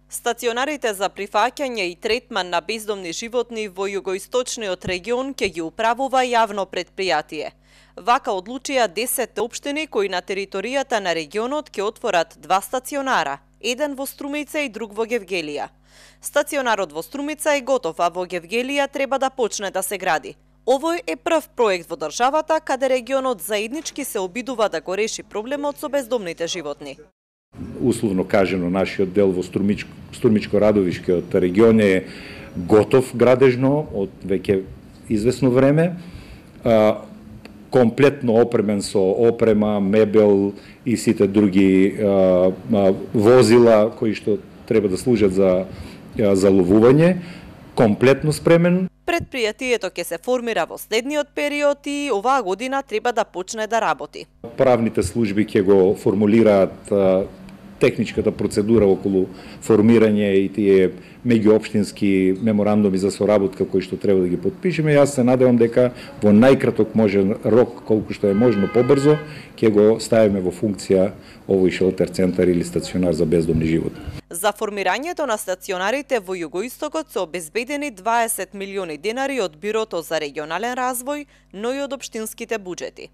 Стационарите за прифаќање и третман на бездомни животни во југоисточниот регион ќе ги управува јавно предпријатие. Вака одлучија 10 општини кои на територијата на регионот ќе отворат 2 стационара, еден во Струмица и друг во Гевгелија. Стационарот во Струмица е готов, а во Гевгелија треба да почне да се гради. Овој е прв проект во државата каде регионот заеднички се обидува да го реши проблемот со бездомните животни. Условно кажено, нашиот дел во Стурмичко-Радовишкиот регион е готов градежно од веќе извесно време, комплетно опремен со опрема, мебел и сите други возила кои што треба да служат за ловување, комплетно спремен. Предпријатието ќе се формира во следниот период и оваа година треба да почне да работи. Правните служби ќе го формулираат техничката процедура околу формирање и тие меѓуопштински меморандуми за соработка кои што треба да ги потпишеме. Јас се надевам дека во најкраток можен рок, колку што е можно побрзо, ќе го ставиме во функција овој шелтер центар или стационар за бездомни животни. За формирањето на стационарите во југоистокот се обезбедени 20 милиони денари од Бирото за регионален развој, но и од општинските буџети.